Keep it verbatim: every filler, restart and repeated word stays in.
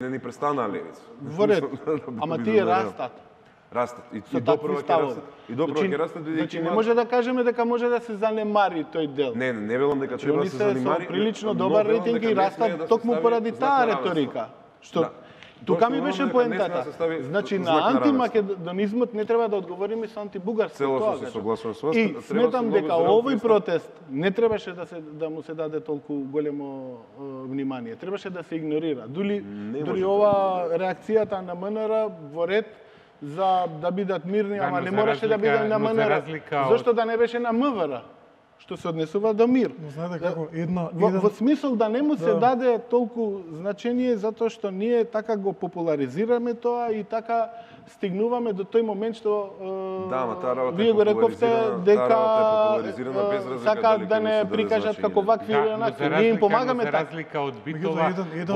Не ни престана левица. Во ред, ама тие растат. Растат. И, Со и допро такви ќе растат. И допро Значи- ќе растат бидејќи Значи не има- може да кажеме дека може да се занемари тој дел. Не, не, не велам дека треба да Они се се со занимари. прилично но добар велам рейтинг дека и не смее растат да се токму стави поради знак таа на равенство. реторика. Што Да. тука Тоа ми што беше велам дека не смее да поентата. се стави Значи знак на на равенство. антимакедонизмот не треба да одговориме со антибугарство. Целосно тоа се кажам. согласувам со вас, И треба сметам многу дека зрел овој пристап. протест не требаше да се да му се даде толку големо е, внимание. Требаше да се игнорира. Дури Не дури може ова реакцијата на МНР во ред за да бидат мирни, Да, ама но не за мораше да разлика- биде на но за МНР. разлика од- Зошто да не беше на МВР? Што се однесува до мир. Но знаете како, една... Во, еден... во смисол да не му се Да. даде толку значење затоа што ние така го популаризираме тоа и така стигнуваме до тој момент што е, Да, ама таа работа е вие го рековте популаризирана- дека таа работа е популаризирана без е, разлика сака дали да ќе му не се даде прикажат значење. како вакви Да, или но онакви. за Ние им разлика, но помагаме за така. разлика од Меѓутоа, битова, еден, еден